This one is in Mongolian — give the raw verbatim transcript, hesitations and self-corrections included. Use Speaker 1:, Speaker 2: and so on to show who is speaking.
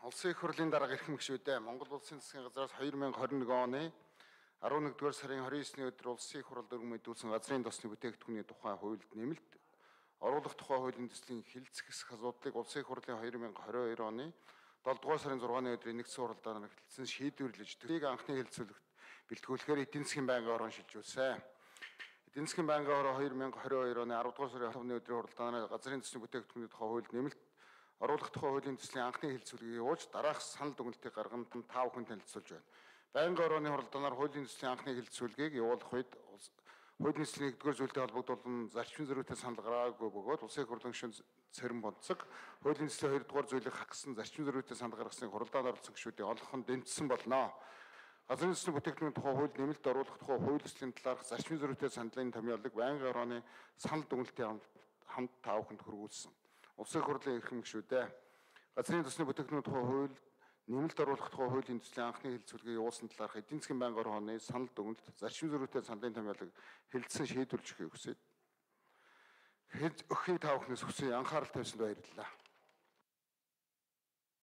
Speaker 1: Улсын их хурлын дарга эрхэм гишүүдээ Монгол Улсын засгийн газраас хоёр мянга хорин нэг оны арван нэгдүгээр сарын хорин есний өдөр Улсын их хурл өргөн мэдүүлсэн газрын тосны бүтээгдэхүүний тухай хуульд нэмэлт оруулах тухай хуулийн төслийн хэлэлцэх асуудлыг Улсын их хурлын хоёр мянга хорин хоёр оны долдугаар сарын зургааны өдрийн нэгдсэн хуралдаанаар эхэлсэн шийдвэрлэж тэрийг анхны хэлэлцүүлэгт бэлтгүүлэхээр эдийн засгийн байнгын орон шилжүүлсэн. Эдийн засгийн байнгын орон хоёр мянга хорин хоёр оны аравдугаар сарын хавны өдрийн хуралдаанаар газрын төсний бүтээгдэхүүний тухай хуульд нэмэлт оруулах тухай хуулийн төслийн анхны хэлэлцүүлгийг явуулж дараах санал дүгнэлтийг гарган тав хүн танилцуулж байна. Байнгын орооны хуралдаанаар хуулийн төслийн анхны хэлэлцүүлгийг явуулах үед хуулийн төслийн нэгдүгээр зүйлтэй холбогдуулан зарчмын зөрүүтэй санал гаргаагүй бөгөөд Улсын их хурлын гишүүн Цэрэн Бонцог хуулийн төслийн хоёрдугаар зүйлийг хагасан зарчмын зөрүүтэй санал гаргасныг хуралдаанд оролцсон гишүүдийн олонх нь дэмжсэн болно. Газрын төслийн бүтээгдэхүүний тухай хууль нэмэлт оруулах тухай хууль төслийн талаарх зарчмын зөрүүтэй саналын томьёолыг байнгын орооны санал дүгнэлтийн хамт тав хүнд хүргүүлсэн. Улсын их хурлын эрхэм гишүүдээ газрын төсний бүтээгдэхүүний тухай хууль нэмэлт оруулах тухай хуулийн төслийн анхны хэлэлцүүлгийг явуулсан талаарх эдийн засгийн байнгын орооны санал дүгнэлт зарчмын зөрүүтэй саналын томьёолыг хэлэлцэн шийдвэрлэж өгөхийг хүсээд өгөхийг тав хүнээс хүсье. Анхаарал тавьсанд баярлалаа.